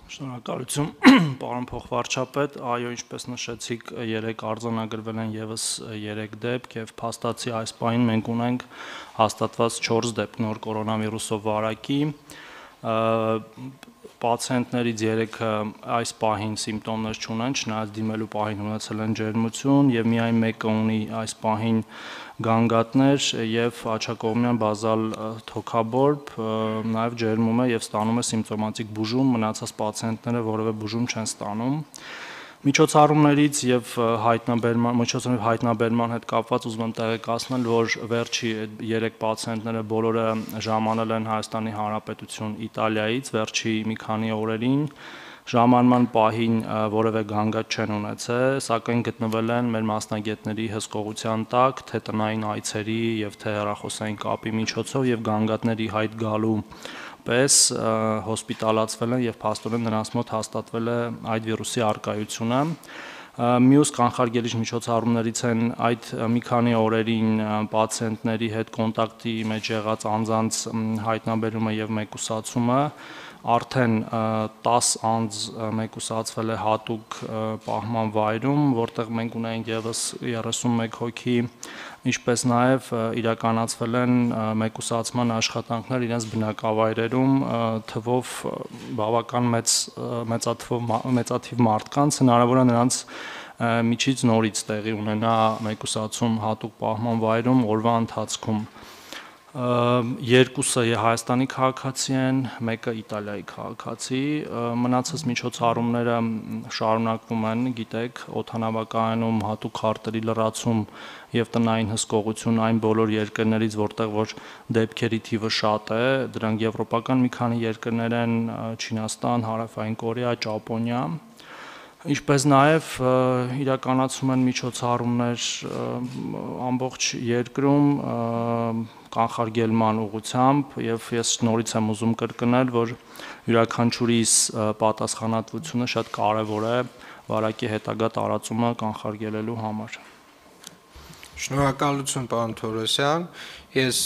Շնորհակալություն, պարոն փոխվարչապետ, այո, ինչպես նշեցիք, երեք արձանագրվել են եւս 3 դեպք եւ փաստացի այս պահին մենք ունենք հաստատված 4 դեպք նոր կորոնավիրուսով վարակի, պացիենտներից 3-ը այս պահին սիմպտոմներ չունեն, չնայած դիմելու պահին ունեցել են ջերմություն եւ միայն մեկը ունի այս պահին գանգատներ եւ աջակողմյան բազալ թոքաբորբ, նաեւ ջերմում է եւ ստանում է սիմպտոմատիկ բուժում, մնացած պացիենտները որևէ բուժում չեն ստանում։ Միջոցառումներից եւ հայտնաբերման հետ կապված ուզում եմ տեղեկացնել, որ վերջի 3 պացիենտները բոլորը ժամանել են Հայաստանի Հանրապետություն Իտալիայից վերջի մի քանի օրերին, ժամանման պահին որևէ գանգատ չեն ունեցել, սակայն գտնվել են մեր մասնագետների հսկողության տակ, թե տնային այցերի եւ թե հեռախոսային կապի միջոցով եւ գանգատների հայտ գալու պես հոսպիտալացվել են եւ փաստորեն նրանց մոտ հաստատվել է այդ վիրուսի առկայությունը։ Մյուս կանխարգելիչ միջոցառումներից են այդ մի քանի օրերին պացիենտների հետ կոնտակտի մեջ եղած անձանց հայտնաբերումը եւ մեկուսացումը, արդեն 10 անձ մեկուսացվել է հատուկ պահման վայրում, որտեղ մենք ունենք եւս 31 հոգի, ինչպես նաեւ իրականացվել են մեկուսացման աշխատանքներ իրենց բնակավայրերում թվով բավական մեծաթիվ մարդկանց, հնարավոր է նրանց միջից նորից տեղի ունենա մեկուսացում հատուկ պահման վայրում օրվա ընթացքում։ Երկուսը Հայաստանի քաղաքացի են, մեկը Իտալիայի քաղաքացի, մնացած միջոցառումները շարունակվում են, գիտեք, օդանավակայանում հատուկ քարտերի լրացում եւ տնային հսկողություն այն բոլոր երկրներից, որտեղ որ դեպքերի թիվը շատ է, դրանք եվրոպական մի քանի երկրներ են, Չինաստան, Հարավային Կորեա, Ճապոնիա, ինչպես նաեւ իրականացում են միջոցառումներ ամբողջ երկրում կանխարգելման ուղղությամբ եւ ես նորից եմ ուզում կրկնել, որ յուրաքանչյուրիս պատասխանատվությունը շատ կարեւոր է վարակի հետագա տարածումը կանխարգելելու համար։ Շնորհակալություն, պարոն Թորոսյան, ես